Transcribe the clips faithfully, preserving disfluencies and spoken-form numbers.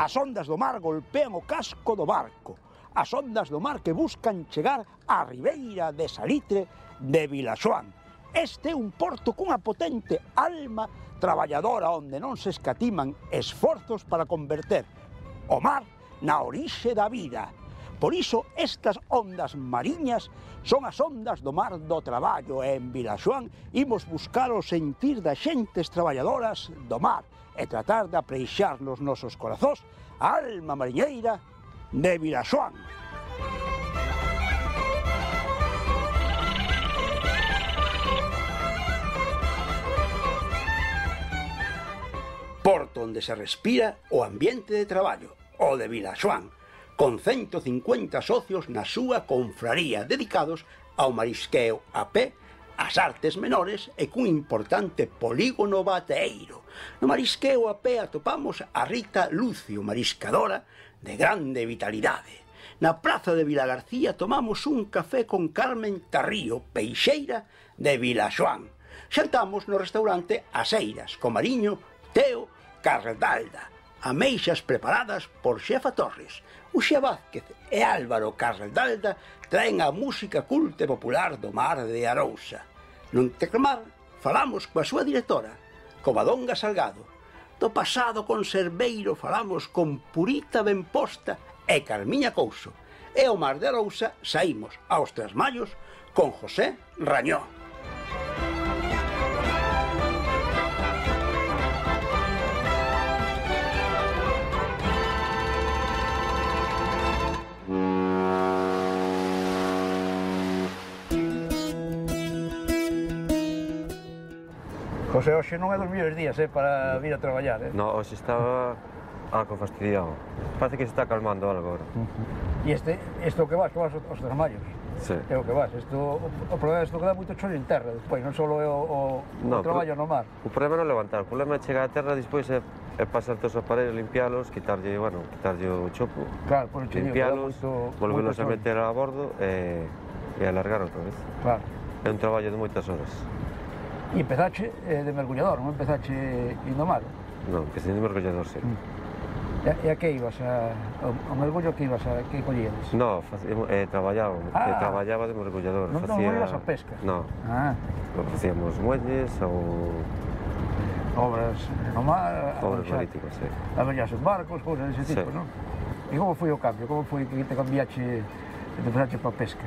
As ondas do mar golpean o casco do barco. As ondas do mar que buscan chegar á ribeira de Salitre de Vilaxoán. Este é un porto cunha potente alma traballadora onde non se escatiman esforzos para converter o mar na orixe da vida. Por iso, estas ondas mariñas son as ondas do mar do traballo e en Vilaxoán imos buscar o sentir das xentes traballadoras do mar e tratar de apreixar nos nosos corazóns a alma mariñeira de Vilaxoán. Porto onde se respira o ambiente de traballo, o de Vilaxoán, con cento cincuenta socios na súa confraría dedicados ao marisqueo a pé, ás artes menores e cun importante polígono bateeiro. No marisqueo a pé atopamos a Rita Lucio, mariscadora de grande vitalidade. Na praza de Vilagarcía tomamos un café con Carmen Tarrío, peixeira de Vilaxoán. Xantamos no restaurante As Eiras, co mariño Teo Carraldalda, ameixas preparadas por Xefa Torres. Uxía Vázquez e Álvaro Carraldalda traen a música culta e popular do mar de Arousa. No Teclamar falamos coa súa directora, Covadonga Salgado. Do pasado conserveiro falamos con Purita Benposta e Carmiña Couso. E ao mar de Arousa saímos aos Trasmallos con José Rañó. José, hoxe non é dos mellores días, eh, para vir a traballar, eh? No, hoxe estaba algo fastidiado. Parece que se está calmando algo agora. E este, isto o que vas, que vas aos Trasmallos? Sí. É o que vas. Isto, o, o problema é isto que dá moito chollo en terra, despois, non só é o, o, no, o traballo no mar. O problema non é levantar, o problema é chegar a terra, despois é, é pasar todos os aparellos, limpiálos, quitarlle, bueno, quitarlle o chopo, claro, por limpiálos, volverlos a meter a bordo e, e alargar outra vez. Claro. É un traballo de moitas horas. E empezache eh, de mergullador, non empezache indo mar? Non, empecé de mergullador, sí. Mm. E, e a que ibas? A, ao mergullo que ibas? A que collías? No, eh, traballaba, ah, eh, traballaba de mergullador. Non, facía... non ibas a pesca? No, ah. facíamos muelles ou... Obras no mar... Obras marítimas, sí. Avellas en barcos, cousas dese tipo, sí. Non? E como foi o cambio? Como foi que te cambiache, que te pasache para a pesca?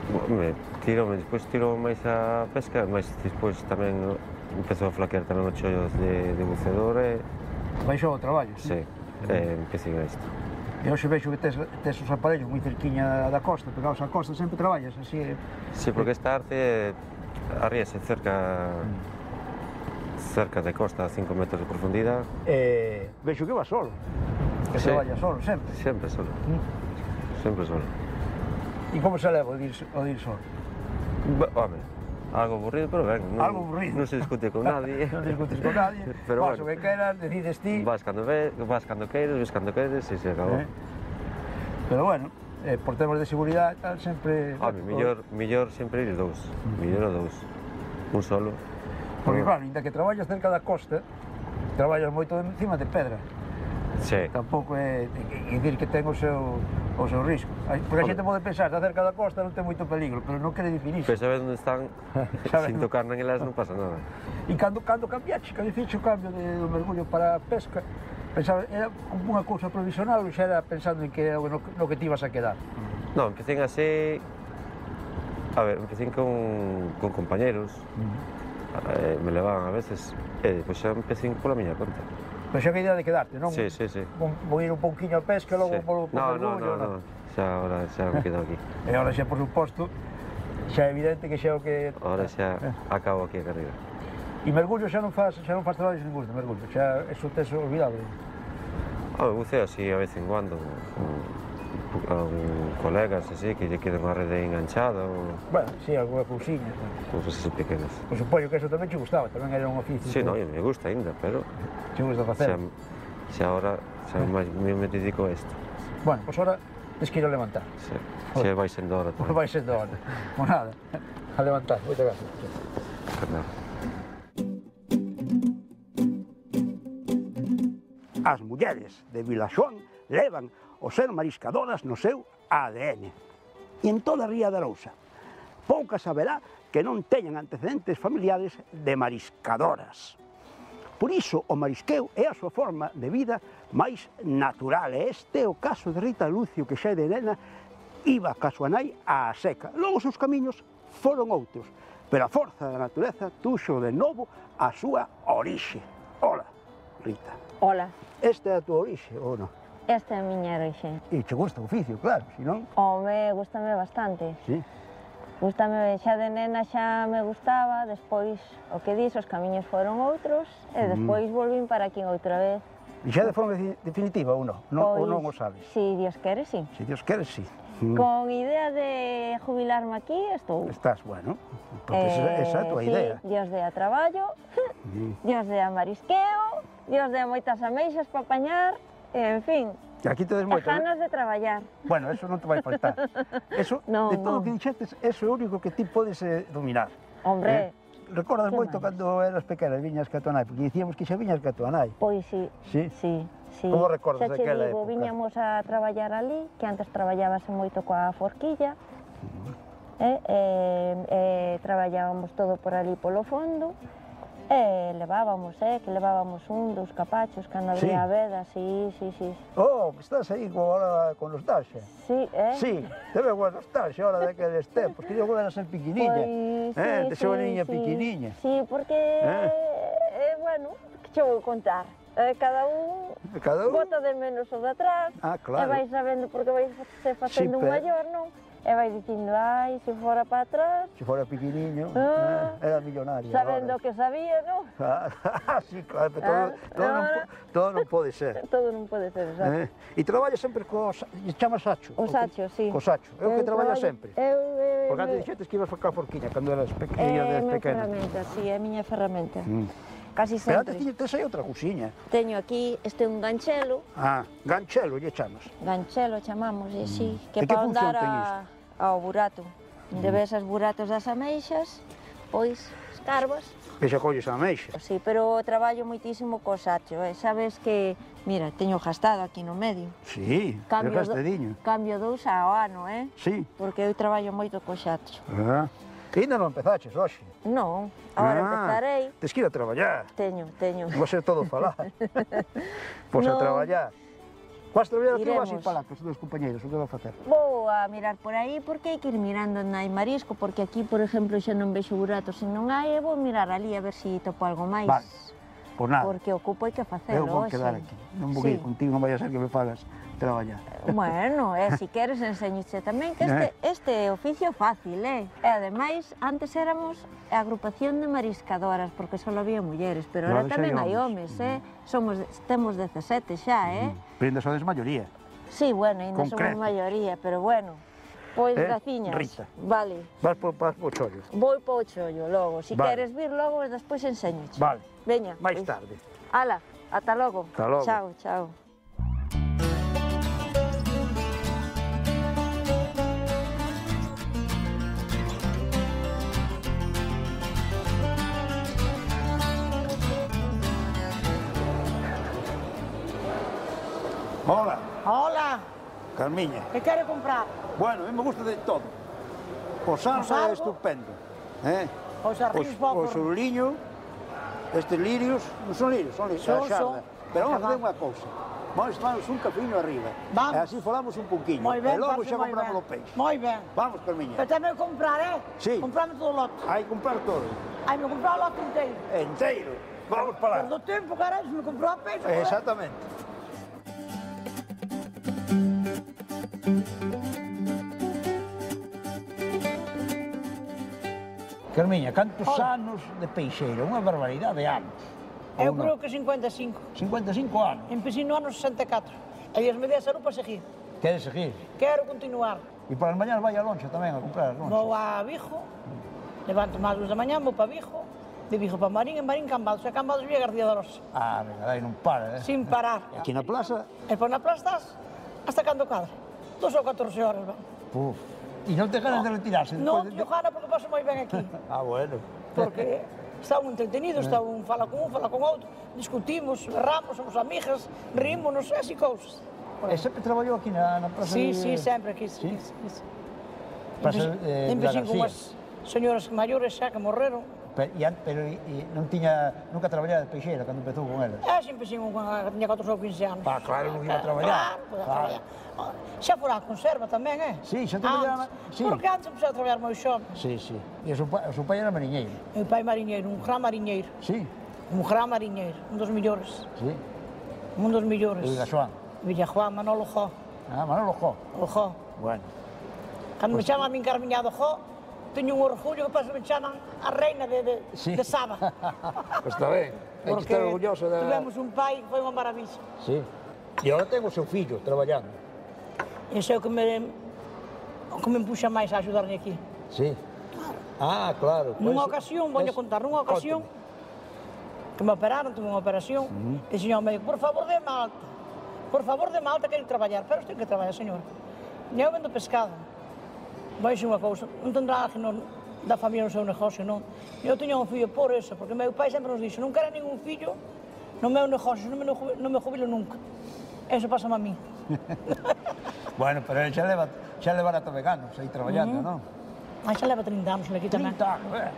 Me tirou, despois tirou máis a pesca, mas despois tamén empezou a flaquear tamén os chollos de, de bucedor e... Baixou o traballo? Sí, e empecé a isto. E hoxe vexo que tes, tes os aparellos moi cerquiña da costa, pegados á costa, sempre traballas así... Sí, porque esta arte arríase cerca... cerca de costa, a cinco metros de profundidade. E vexo que vas solo, que sí. traballas solo, sempre? Sempre solo, mm. sempre solo. E como se leva o dir, o dir solo? Home, algo aburrido, pero ben, non, algo aburrido. Non se discute con nadie. Non discutes con nadie, pero vas bueno, o que queras, decides ti. Vas cando, ve, vas cando queres, ves cando queres e se acabou. Eh? Pero bueno, eh, por temas de seguridade e tal, sempre... Home, mellor, mellor sempre ir dous, mm. mellor dous, un solo. Porque claro, ainda que traballas cerca da costa, traballas moito encima de pedra. Sí. Tampouco é dicir que ten o seu, o seu risco. Porque a xente pode pensar, está cerca da costa non ten moito peligro, pero non quere dicir iso. Pero saber onde están, sin tocar nelas non pasa nada. E cando, cando cambiaxe, cando fixo o cambio de, do mergullo para a pesca, pensaba, era como unha cousa provisional ou xa era pensando en que era no, no que te ibas a quedar? Non, empecé así... A ver, empecé con, con compañeros, uh-huh. eh, me levaban a veces, e depois xa empecé pola miña conta. Pero xa que idea de quedarte, non? Sí, sí, sí. Vou ir un pouquinho a pesca, logo sí. vou por no, mergullo... No, no, no, xa agora xa me quedo aquí. E agora xa, por suposto, xa é evidente que xa o que... Agora xa eh. acabo aquí a carreira. E mergullo xa non faz, xa non faz traballos ningún de mergullo, xa eso tes olvidado? Ah, buceo así a vez en cuando, con, con colegas así, que lle queden unha rede enganchada ou... Bueno, sí, alguna cousiña. Cousas así pequenas. Por supoño que eso tamén che gustaba, tamén era un oficio. Sí, no, me gusta ainda, pero... Che gusta facer? Xa, xa agora, xa máis me, me dedico a isto. Bueno, pois pues ahora tens que ir a levantar. Sí, xa vai sendo hora tamén. Vai sendo hora. Pois nada, a levantar. Moitas gracias. Nada. As mulleres de Vilaxoán levan o ser mariscadoras no seu A D N. E en toda a Ría de Arousa, poucas haberá que non teñan antecedentes familiares de mariscadoras. Por iso, o marisqueo é a súa forma de vida máis natural. E este é o caso de Rita Lucio, que xa de nena iba ca súa nai á seca. Logo os seus camiños foron outros, pero a forza da natureza tuxo de novo a súa orixe. Ola, Rita. Ola. Esta é a túa orixe, ou non? Esta é a miña orixe. E che gusta o oficio, claro, si non? Home, gústame bastante. Sí. Gústame, xa de nena xa me gustaba, despois, o que dis, os camiños foron outros, e despois volvín para aquí outra vez. E xa de forma definitiva ou non? Ou non o sabes? Si Dios quere, si. Si Dios quere, si. Con idea de jubilarme aquí, estou. Estás, bueno, porque esa é a tua idea. Si, Dios dea traballo, Dios dea marisqueo, Dios dea moitas ameixas para apañar, en fin. E aquí tedes moitas, ganas de traballar. Bueno, eso non te vai faltar. Eso, no, de todo o no. que dixetes, eso é o único que ti podes eh, dominar. Hombre. Eh? Recordas moito máis? cando eras pequena, viñas ca tua nai, porque dicíamos que xa viñas ca tua nai. Pois sí, sí, sí, sí. Como recordas xa daquela digo, época? viñamos a traballar ali, que antes traballábase moito coa forquilla, uh-huh. eh, eh, eh, traballábamos todo por ali polo fondo, e levábamos, eh, que levábamos un, dos capachos, cando había sí. veda, sí, sí, sí. Oh, estás aí ahora con nostalgia. Sí, eh? Sí, te veo con nostalgia ahora daqueles tempos, que eu era ser piquiniña, pois, eh, sí, de ser sí, niña sí. piquiniña. Sí, porque, eh? eh, bueno, que che vou contar? Eh, cada un, cada un bota de menos o de atrás, ah, claro. e vai sabendo porque vai se facendo sí, un maior, non? E vai dicindo, ai, se fora para atrás... Se fora piquiniño, ah, eh, era millonario. Sabendo o ahora. que sabía, non? Ah, sí, claro, pero todo, ah, todo, non, todo non pode ser. Todo non pode ser, exacto. Eh? E traballa sempre co... chama Sacho? O Sacho, sí. Co Sacho, é o que traballa traballo, sempre? Eu, eu, Porque antes dixetes que ibas a facar forquiña cando eras pequena, é a miña pequena. ferramenta, sí, é a miña ferramenta. Mm. Casi Pero sempre. antes tiña, tes aí outra cousiña. Teño aquí, este é un ganchelo. Ah, ganchelo, lle chamas. Ganchelo chamamos, e sí, Mm. que E que para función andar ten a, ao burato. De ves as buratos das ameixas, pois escarbas. E xa colles a ameixa. Sí, pero traballo moitísimo co sacho, eh? Sabes que, mira, teño gastado aquí no medio. Sí, Cambio, é gastadiño. do, cambio dous ao ano, eh? Sí. Porque eu traballo moito co sacho. Ah. E ainda non empezaches hoxe? Non, agora ah, empezarei. Tes que ir a traballar. Teño, teño. Non vai ser todo falar. Pois no. a traballar. Vas traballar aquí ou vas ir falar cos teus compañeros? O que vas facer? Vou a mirar por aí porque hai que ir mirando onde hai marisco, porque aquí, por exemplo, xa non vexo buratos se non hai, e vou mirar ali a ver se si topo algo máis. Vale, por nada. Porque ocupo hai que facelo. Eu vou quedar aquí, non vou sí. ir contigo, non vai a ser que me fagas traballar. Bueno, e se si queres enseñoche tamén que este, este oficio fácil, eh? E ademais, antes éramos a agrupación de mariscadoras, porque só había mulleres, pero ahora tamén hai homes, eh? Somos, temos dezasete xa, eh? Pero ainda sodes maioría. Sí, bueno, ainda somos maioría, pero bueno. Pois, eh? graciñas. Rita. Vale. Vas po, vas po chollo. Vou po chollo logo. Si vale. queres vir logo, despois enseñoche. Vale. Veña. Mais pues. tarde. Ala, ata logo. Ata logo. Chao, chao. Hola. Hola. Carmiña. Que quere comprar? Bueno, a mí me gusta de todo. O sardo é estupendo. Eh? Os arríos povos. O soruliño, estes lirios, non son lirios, son lirios, son, son. Pero vamos a fazer unha cousa. Vamos a tomarnos un cafeíno arriba. Vamos. E así falamos un pouquinho. Moi ben, e logo parce, xa moi compramos ben. o peixe. Moi ben. Vamos, Carmiña. Pero tamén comprar, eh? Sí. Comprame todo o lote. Hai que comprar todo. Hai me comprar o lote inteiro. Enteiro. Vamos para lá. Perdo tempo, carai, se me comprou a peixe. Exactamente. Carmiña, cantos Hola. anos de peixeira? Unha barbaridade de anos. Eu creo que cincuenta e cinco. cincuenta e cinco anos? Empecé no ano sesenta e catro. E as medidas eran para seguir. Queres seguir? Quero continuar. E para as mañás vai a lonxa tamén a comprar as lonxas? Vou a Vigo, levanto máis luz da mañá, vou para Vigo, de Vigo para Marín, en Marín Cambados, e Cambados vía García de Rosa. Ah, venga, dai, non para, eh? Sin parar. E aquí na plaza? E por na plaza estás hasta cando cadre. Dos ou catorce horas, van. Puf. E non te ganas de retirarse? Non, de... yo gana porque paso moi ben aquí. Ah, bueno. Porque está un entretenido, está un fala con un, fala con outro, discutimos, berramos, somos amigas, rímonos, así cousas. E sempre traballou aquí na, na praza Sí, de... sí, sempre aquí. Sí? Sí, sí. Praza de Empecé con García. unhas señoras maiores xa que morreron. Pero, e, an- pero e, e non tiña, nunca traballaba de peixeira cando empezou con elas. Ah, sempre empecé con cando tiña catorce ou quince anos. Ah, claro, non iba a traballar. Claro, podía Claro. traballar. Ah, xa fora a conserva tamén, eh? Sí, xa traballaba, Antes, sí. Porque antes empecé a traballar moi xove. Sí, sí. E o seu pai, o seu pai era mariñeiro. Meu pai mariñeiro, un gran mariñeiro. Sí, Un gran mariñeiro, un dos millores. sí. Un dos millores. E Villaxoán. Villajuán, Manolo Jó. Ah, Manolo Jó. O Jó. Bueno. Cando me chaman a min Carmiñado Jó, teño un orgullo que paso me chaman a reina de, de, Sí. de Saba. Pois está ben. Hai que Porque estar orgulloso da... tivemos un pai que foi unha maravilla. Sí. E agora ten o seu fillo traballando. Ese é o que me, o que me empuxa máis a axudarme aquí. Sí. Ah, claro. Nunha Pois- ocasión, voy a es- contar, nunha ocasión que me operaron, tuve unha operación, e o señor médico, por favor, de alta, por favor, de alta, quero traballar, pero ten que traballar, señor. E eu vendo pescado. Vai ser unha cousa, non tendrá alguén non, da familia no seu negocio, non? Eu teño un fillo por eso, porque meu pai sempre nos dixo, non quero ningún fillo no meu negocio, non me, non me jubilo nunca. Eso pasa a mí. Bueno, pero ele xa leva, xa leva rato veganos aí traballando, non? Ah, xa leva trinta anos aquí tamén. trinta anos, eh?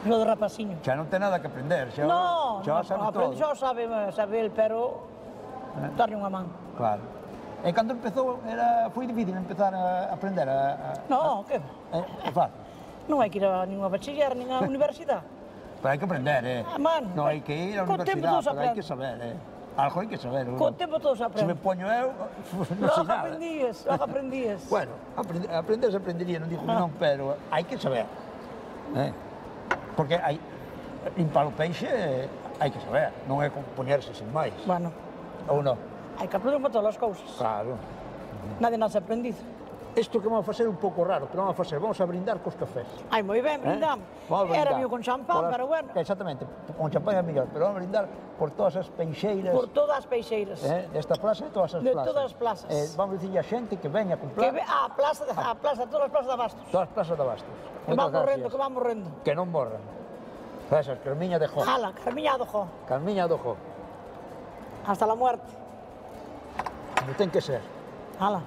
Lo do rapaciño. Xa non ten nada que aprender, xa, No, xa no, sabe aprende, todo. xa o sabe, sabe el, pero darlle unha man. Claro. E cando empezou, era, foi difícil empezar a aprender a... a No, que a, a fácil. non hai que ir a ninguna bachiller, nin a universidade. Pero hai que aprender, eh? Ah, mano, non hai que ir á co tempo universidade, todo se pero hai aprende. que saber, eh? Algo hai que saber. Co tempo todo se Se me aprende. poño eu, non sei Logo nada. aprendías, logo aprendías. Bueno, aprender, aprender se aprendería, non digo que Ah. non, pero hai que saber. Eh? Porque hai, limpar o peixe eh, hai que saber, non é como poñerse sin máis. Bueno, Ou non? hai que aprender para todas as cousas. Claro. Nadie nace aprendido. Isto que vamos a facer un pouco raro, pero vamos a facer, vamos a brindar cos cafés. Ai, moi ben, brindamos. Vamos a Era brindar mío con champán, por as- pero bueno. Exactamente, con champán é mellor, pero vamos a brindar por todas as peixeiras Por todas as peixeiras. eh, desta plaza e todas as De plazas. todas as plazas. Eh, vamos a dicirle a xente que veña a Que comprar ve a plaza, de, a plaza, todas as plazas de Bastos. todas as plazas de Bastos. Que Moitas van morrendo, gracias. que van morrendo. Que non morran. Gracias, Carmiña de Jo. Jala, Carmiñado, jo. Carmiña do Jo. Hasta la muerte. Como ten que ser. Jala.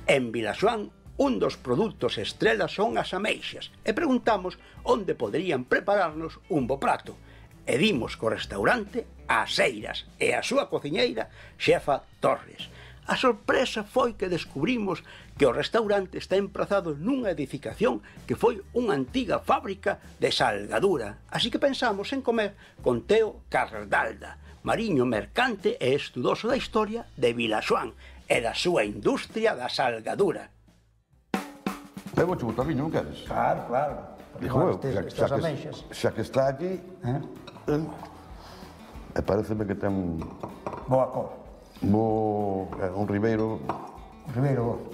En Vilaxoán, un dos produtos estrela son as ameixas e preguntamos onde poderían prepararnos un bo prato. E dimos co restaurante As Eiras e a súa cociñeira, Xefa Torres. A sorpresa foi que descubrimos que o restaurante está emprazado nunha edificación que foi unha antiga fábrica de salgadura, así que pensamos en comer con Teo Cardalda, mariño mercante e estudoso da historia de Vilaxoán e da súa industria da salgadura. Eu vou che botar viño, non queres? Claro, claro. Dijo eu, Estes- xa, estas xa, ameixas. que, xa que está aquí, Eh? eh, e pareceme que ten Boa cor. bo, eh, un ribeiro. Ribeiro,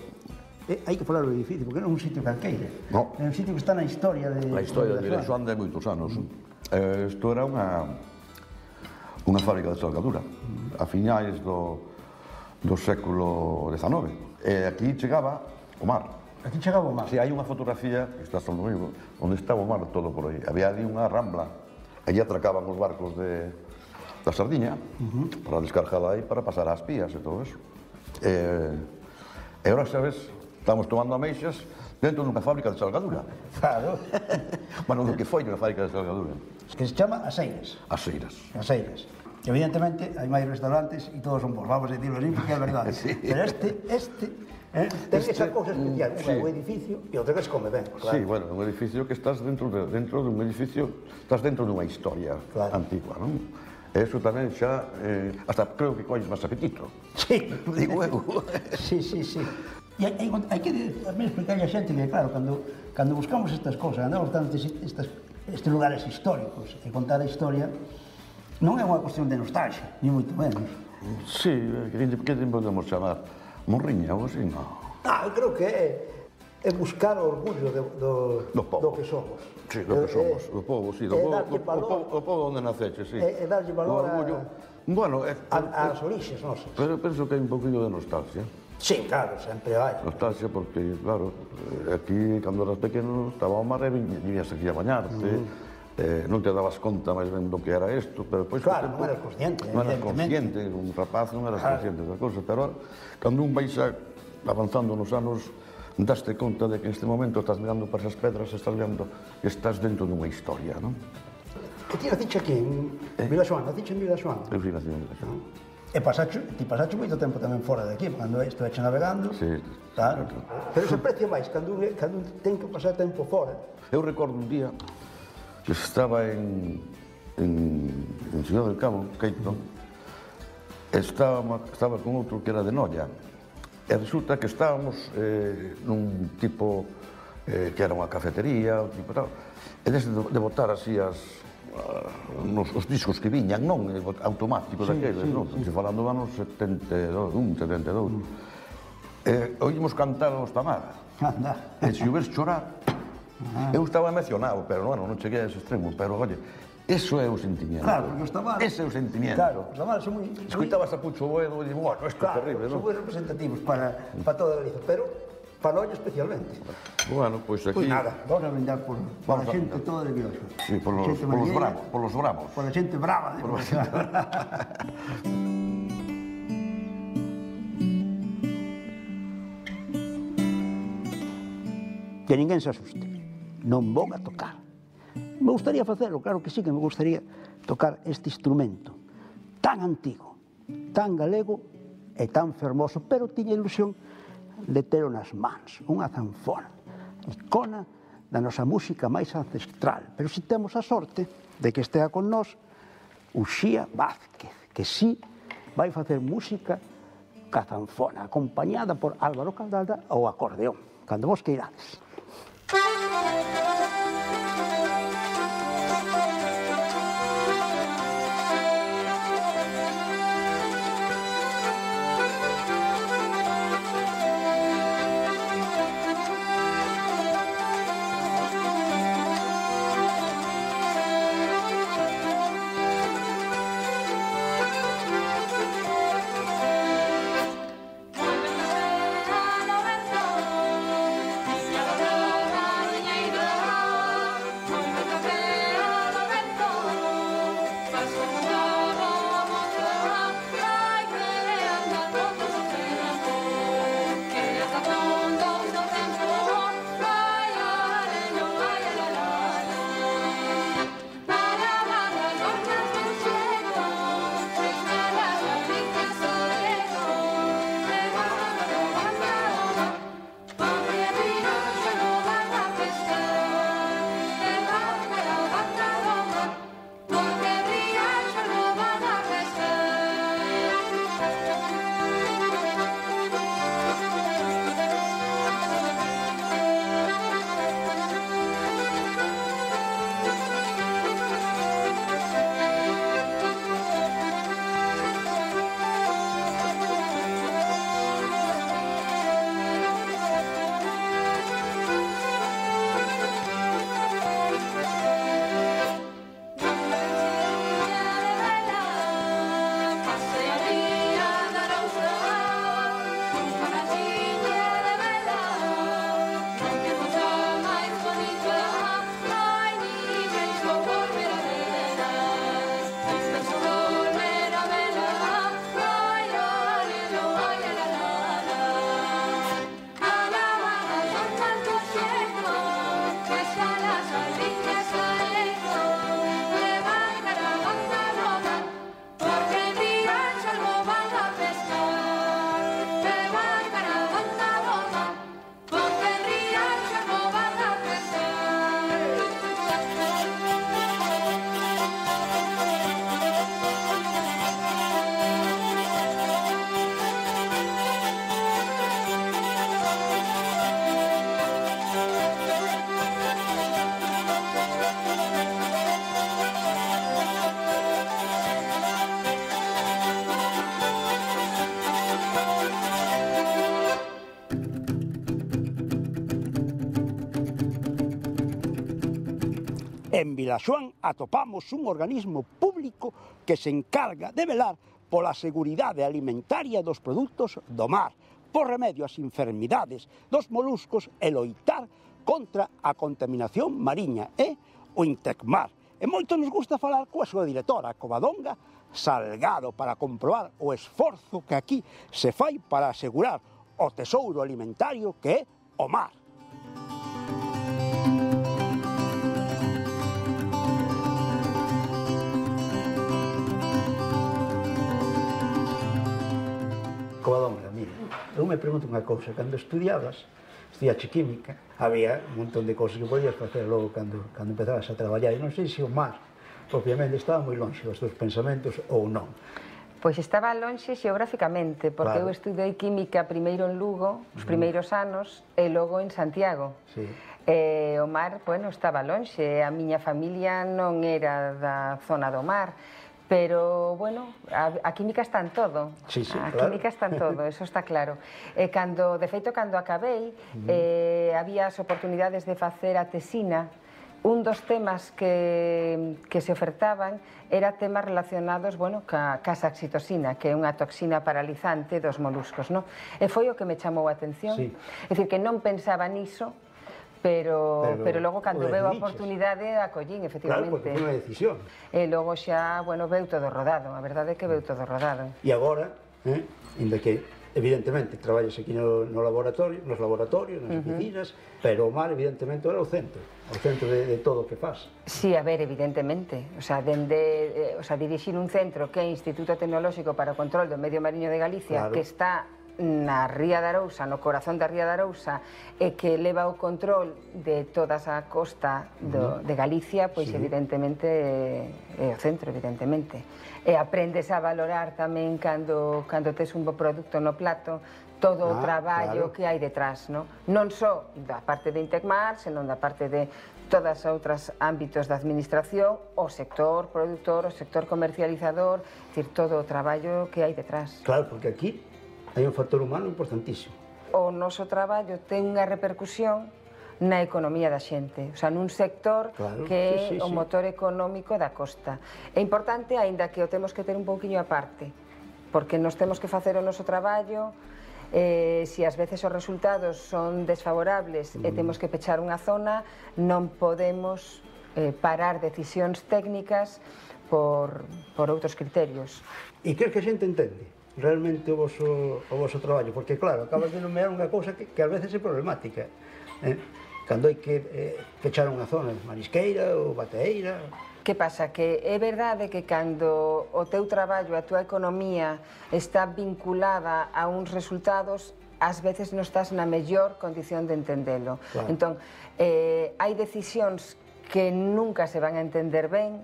eh, hai que falar do edificio, porque non é un sitio calqueira. No. É un sitio que está na historia de... A historia de Vilaxoán. Vilaxoán de moitos anos. Eh, isto era unha unha fábrica de salgadura a finais do, do século dezanove. E aquí chegaba o mar. Aquí chegaba o mar. Si hai unha fotografía, que está no vivo, onde estaba o mar todo por aí. Había ali unha rambla, allí atracaban os barcos de, da Sardiña, uh -huh. para descargala aí, para pasar ás pías e todo eso. E, e ahora, sabes, estamos tomando ameixas dentro dunha fábrica de salgadura. Claro. Bueno, do que foi unha fábrica de salgadura. Que se chama As Eiras. As Eiras. As Eiras. Evidentemente, hai máis restaurantes e todos son bons, vamos a decirlo así, porque é verdade. Sí. Pero este, este, eh, ten Este, esa cousa especial, sí. un edificio e outra que se come ben, claro. Sí, bueno, un edificio que estás dentro de, dentro dun edificio, estás dentro dunha historia Claro. antigua, non? E iso tamén xa, eh, hasta creo que colles máis apetito. Sí, Digo eu. Sí, sí, sí. E hai, hai, hai que tamén explicarle a xente que, claro, cando, cando buscamos estas cosas, andamos buscando estes, estas, estes lugares históricos e contar a historia, non é unha cuestión de nostalgia, ni moito menos. Sí, que, que te podemos chamar? Morriña ou así, non? Ah, eu creo que é, é buscar o orgullo de, do, Do povo. do que somos. Sí, do que É- somos, é- do povo, sí, do é povo, darlle do, do, valor povo, do povo onde naceche, sí. É- é darlle valor O orgullo. a- Bueno, é, a- ás orixes nosas. pero penso que hai un poquinho de nostalgia. Sí, claro, sempre hai. Nostalgia porque, claro, aquí, cando eras pequeno, estaba o mar e viñas aquí a bañarte, eh, non te dabas conta máis ben do que era isto, pero depois... Claro, non eras consciente, non eras evidentemente. consciente, un rapaz non eras Claro. consciente da cousa, pero cando un vais avanzando nos anos, daste conta de que en este momento estás mirando para esas pedras, estás vendo que estás dentro dunha historia, non? E ti naciche aquí, en Vila Xoán, naciche en Vila Xoán? Eu fui nacido en Vila Xoán. E pasacho, ti pasacho moito tempo tamén fora de aquí, cando estuveche navegando. Sí. Claro. Pero se aprecia máis cando un, cando un ten que pasar tempo fora. Eu recordo un día que estaba en, en, en Ciudad del Cabo, Queito, estaba, estaba con outro que era de Noia, e resulta que estábamos eh, nun tipo eh, que era unha cafetería, un tipo tal, e desde de botar así as, nos, os discos que viñan, non automáticos daqueles, non? Se falando do anos setenta e un, setenta e dous. E oímos cantar os Tamara. Anda. E se o ves chorar, eu estaba emocionado, pero bueno, non cheguei a ese extremo, pero oye, eso é o sentimiento. Claro, porque os Tamara... Ese é o sentimiento. Claro, os Tamara son moi... Escuitabas a Pucho Boedo e digo, bueno, isto é Claro, terrible, son non? moi representativos para, para toda Galicia, pero para Noia especialmente. Bueno, pois aquí... Pois nada, vamos a brindar por, por a Vamos a xente brindar. toda de Vila Xoán. Sí, por los, Xente por los malleira, bravos, por los bravos. por a xente brava de Vila Xoán. Que ninguén se asuste, non vou a tocar. Me gustaría facelo, claro que sí que me gustaría tocar este instrumento tan antigo, tan galego e tan fermoso, pero tiña ilusión de telo nas mans, unha zanfona, icona da nosa música máis ancestral. Pero si temos a sorte de que estea con nós Uxía Vázquez, que sí vai facer música ca zanfona, acompañada por Álvaro Caldalda ao acordeón, cando vos queirades. En Vilaxoán atopamos un organismo público que se encarga de velar pola seguridade alimentaria dos produtos do mar, por remedio ás enfermidades dos moluscos e loitar contra a contaminación mariña e o Intecmar. E moito nos gusta falar coa súa directora, Covadonga Salgado, para comprobar o esforzo que aquí se fai para asegurar o tesouro alimentario que é o mar. Covadonga, mira, eu me pregunto unha cousa, cando estudiabas, estudiache química, había un montón de cousas que podías facer logo cando, cando empezabas a traballar, e non sei se o mar, obviamente, estaba moi longe dos teus pensamentos ou non. Pois estaba longe xeográficamente, porque Claro. eu estudei química primeiro en Lugo, os primeiros anos, e logo en Santiago. Sí. E o mar, bueno, estaba longe, a miña familia non era da zona do mar, pero, bueno, a, a química está en todo. Sí, sí, a claro. química está en todo, eso está claro. E cando, de feito, cando acabei, eh, había as oportunidades de facer a tesina. Un dos temas que, que se ofertaban era temas relacionados, bueno, ca, ca saxitosina, que é unha toxina paralizante dos moluscos, no? E foi o que me chamou a atención. Sí. É dicir, que non pensaba niso, pero, Pero pero logo, cando o veo a decidiches. oportunidade, acollín, Claro, efectivamente. porque foi unha decisión. E logo xa, bueno, veu todo rodado, a verdade é que veu todo rodado. E agora, eh, inda que, evidentemente, traballas aquí no, no laboratorio, nos laboratorios, nas oficinas, pero o mar, evidentemente, era o centro, o centro de, de todo o que faz. Sí, a ver, evidentemente. O sea, dende, eh, o sea, dirixir un centro que é Instituto Tecnolóxico para o Control do Medio Mariño de Galicia, Claro. que está na Ría de Arousa, no corazón da Ría de Arousa, e que leva o control de toda a costa do, de Galicia, pois Sí. evidentemente é o centro, evidentemente. E aprendes a valorar tamén cando, cando tes un bo produto no plato, todo o Ah, traballo claro. que hai detrás, no? Non só da parte de Intecmar, senón da parte de todas as outras ámbitos da administración, o sector productor, o sector comercializador, é dicir, todo o traballo que hai detrás. Claro, porque aquí hai un factor humano importantísimo. O noso traballo ten unha repercusión na economía da xente, o sea, nun sector Claro, que é sí, sí, o sí. motor económico da costa. É importante, aínda que o temos que ter un pouquiño aparte, porque nos temos que facer o noso traballo, eh, se ás veces os resultados son desfavorables e temos que pechar unha zona, non podemos eh, parar decisións técnicas por, por outros criterios. E crees que a xente entende realmente o voso, o voso traballo? Porque, claro, acabas de nomear unha cousa que, que a veces é problemática. Eh? Cando hai que eh, fechar unha zona, marisqueira ou bateeira... Que pasa? Que é verdade que cando o teu traballo, a tua economía está vinculada a uns resultados, ás veces non estás na mellor condición de entendelo. Claro. Entón, eh, hai decisións que nunca se van a entender ben,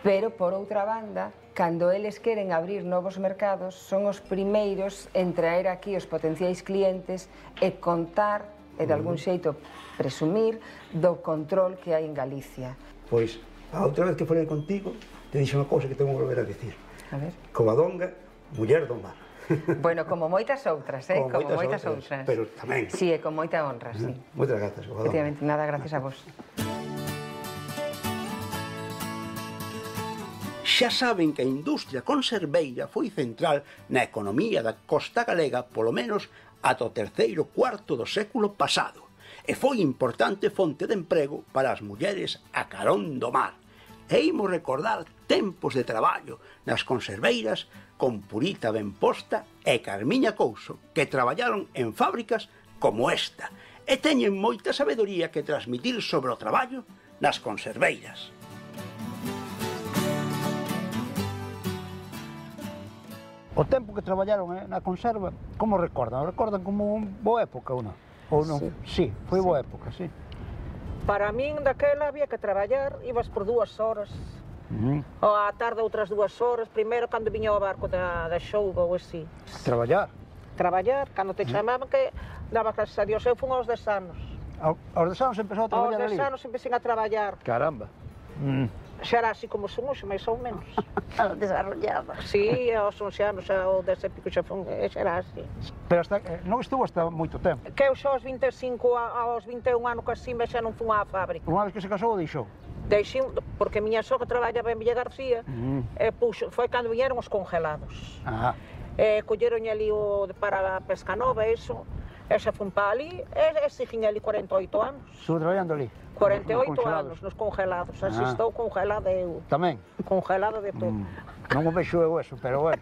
pero, por outra banda, cando eles queren abrir novos mercados, son os primeiros en traer aquí os potenciais clientes e contar, e de algún xeito presumir, do control que hai en Galicia. Pois, a outra vez que falei contigo, te dixo unha cousa que tengo que volver a dicir. A ver. Covadonga, muller do mar. Bueno, como moitas outras, eh? Como Como moitas moitas outras, outras. pero tamén. Sí, e con moita honra, sí. Moitas grazas, Covadonga. Efectivamente, nada, gracias a vos. Xa saben que a industria conserveira foi central na economía da costa galega polo menos ata o terceiro cuarto do século pasado e foi importante fonte de emprego para as mulleres a carón do mar. E imos recordar tempos de traballo nas conserveiras con Purita Benposta e Carmiña Couso, que traballaron en fábricas como esta e teñen moita sabedoría que transmitir sobre o traballo nas conserveiras. O tempo que traballaron eh, na conserva, como recordan? Recordan como un boa época ou non? Ou non? Sí, sí foi boa época, sí. Para min, daquela, había que traballar, ibas por dúas horas. Uh -huh. Ou á tarde outras dúas horas, primeiro cando viña o barco da, da xouga ou así. Traballar? Traballar, cando te chamaban que daba gracias a Dios, eu fun aos dez anos. Ao, aos dez anos empezou a Aos traballar dez ali? anos empecé a traballar. Caramba. Mm. Xa era así como son hoxe, máis ou menos. Desarrollada. Sí, aos once anos, xa o dez e pico xa fun, xa era así. Pero hasta, eh, non estuvo hasta moito tempo. Que eu xa aos vinte e cinco, a- aos vinte e un anos que así, xa non fun á fábrica. Unha vez que se casou, deixou. Deixei, porque a miña sogra traballaba en Villa García, Mm. e puxo, foi cando viñeron os congelados. Ah, E colleron ali o para a pesca nova, iso, e xa fun para ali, e seguiña ali cuarenta e oito anos. Estuvo traballando ali? cuarenta e oito anos nos congelados, así estou congelada eu. Tamén? Congelada de todo. Non o vexo eu eso, pero bueno.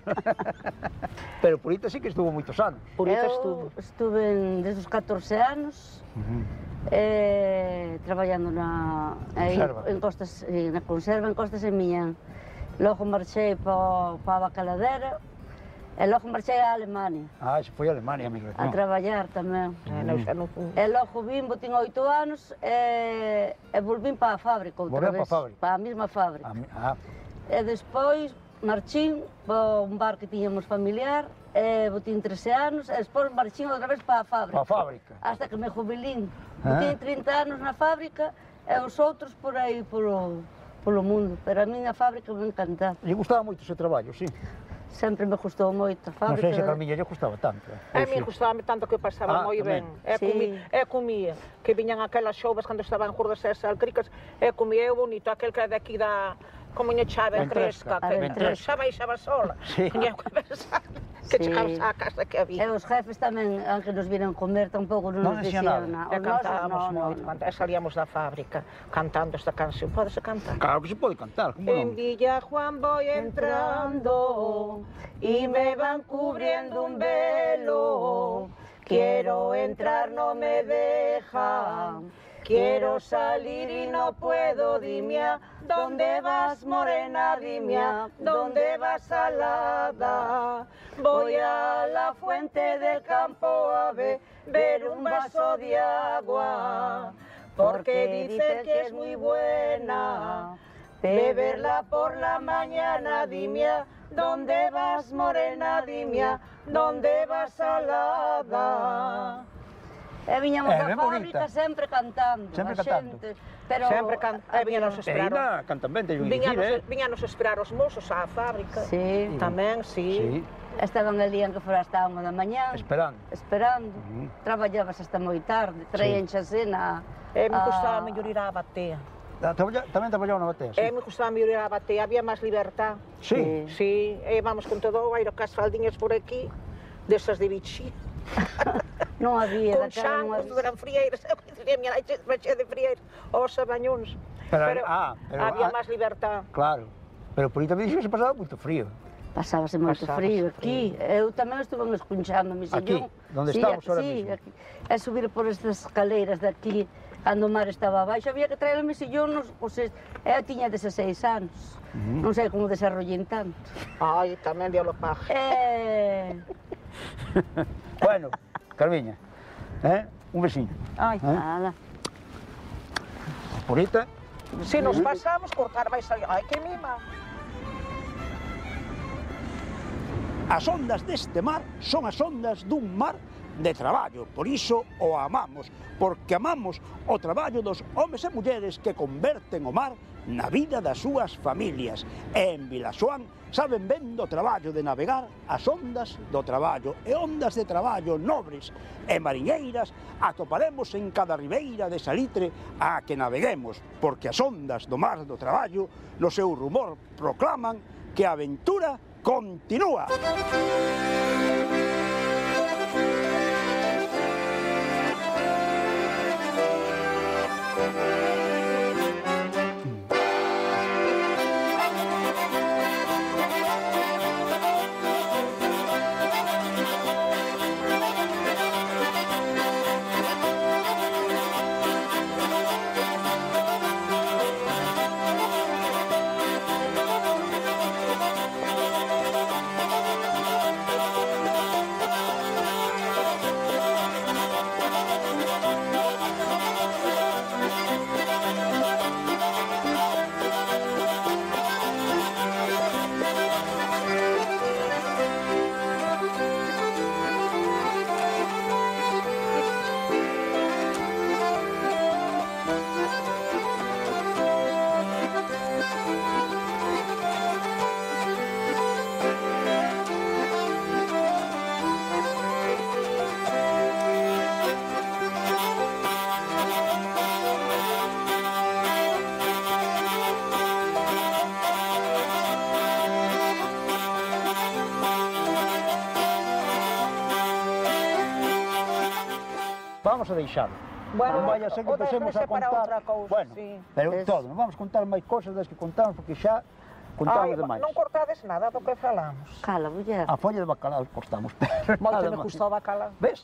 Pero Purita sí que estuvo moitos anos. Purita Eu estuvo. estuve desde os catorce anos, eh, traballando na, aí, Conserva. en Costas, eh, na conserva en Costas en Miñán. Logo marchei pa, pa a Bacaladera, e logo marchei a Alemania, Ah, se foi a Alemania, amigo. a traballar tamén. Eh, non, xa non fun. E logo vim, tiña oito anos, e, e volvín para a fábrica outra Volveu vez. pa a fábrica? Para a mesma fábrica. Ah, E despois marchín para un bar que tiñamos familiar, e botín trece anos, e despois marchín outra vez para a fábrica. pa a fábrica. Hasta que me jubilín. Ah. Botín trinta anos na fábrica, e os outros por aí polo, polo mundo. Pero a miña fábrica me encantaba. Lle gustaba moito ese traballo, sí. Sempre me gustou moito a Non fábrica. sei se a Carmiña lle gustaba tanto. A mí gustaba tanto que pasaba Ah, moi ben. tamén. E, Sí. comi, e comía, que viñan aquelas xovas cando estaban curdas e salcricas, e comía eu bonito, aquel que é de aquí da... Como lle chave Ventresca. fresca, que Ventresca. xa baixaba sola. Sí. Tiña que pensar que Sí. chegabas á casa que E había. os jefes tamén, aunque nos viran comer, tampouco non Non nos dicían dixían nada. nada. E Os nosos, cantábamos no, no, moito, no. canta- e salíamos da fábrica cantando esta canción. Pódese cantar? Claro que se pode cantar, como En non? Villa Juan voy entrando y me van cubriendo un velo. Quiero entrar, no me dejan. Quiero salir y no puedo, dime a dónde vas, morena, dime a dónde vas, salada. Voy a la fuente del campo a beber un vaso de agua, porque dicen que es muy buena beberla por la mañana. Dime a dónde vas, morena, dime a dónde vas, salada. E viñamos É, da ben fábrica bonita. sempre cantando, Sempre a cantando. xente. Pero Sempre can- e viñanos E esperar. ainda cantan ben, teño que dicir, Viñanos, eh? viñanos esperar os mozos á fábrica. Sí. Tamén, sí. Sí, Estaban ali en que fora hasta a unha da mañá, esperando. esperando. Traballabas hasta moi tarde, traían xasé na... E me a- gustaba mellor ir á batea. Ah, traballa- Tamén traballaba na batea, sí. E me gustaba mellor ir á batea, había máis libertad. Sí. Sí, e vamos con todo o aire, cas faldiñas por aquí, desas de bichi, Non había, con daquela non xancos, había. eran frieiras, eu dicía, miña nai che de frieiras, os abañóns. Pero- ah, pero- había ah, máis libertad. Claro. Pero por aí tamén dixo que se pasaba moito frío. Pasábase moito Pasábase frío frío. aquí. Eu tamén estuve escunchando mi Aquí, sillón. donde sí, estamos ahora sí, mismo. aquí. E subir por estas escaleiras de aquí, cando o mar estaba abaixo, había que traer o mi sillón, nos, pues, eu tiña dezaseis anos. Non sei como desarrollín tanto. Ai, tamén diablo paje. Eh... Bueno, Carmiña, eh? Un veciño. Ai, Eh? nada. Purita, Se nos pasamos, cortar vai sair. Ai, que mima. As ondas deste mar son as ondas dun mar de traballo, por iso o amamos, porque amamos o traballo dos homes e mulleres que converten o mar na vida das súas familias. E en Vilaxoán saben ben do traballo de navegar as ondas do traballo, e ondas de traballo nobres e mariñeiras atoparemos en cada ribeira de salitre a que naveguemos, porque as ondas do mar do traballo no seu rumor proclaman que a aventura continúa. vamos a deixalo. Bueno, non vai a ser que o empecemos a deixarse para contar... outra cousa, bueno, sí. pero Es- todo, non vamos contar máis cosas das que contamos, porque xa contamos Ai, demais. non cortades nada do que falamos. Cala, muller. A folla de bacalao cortamos, pero Moito nada me máis. custou bacalao. Ves?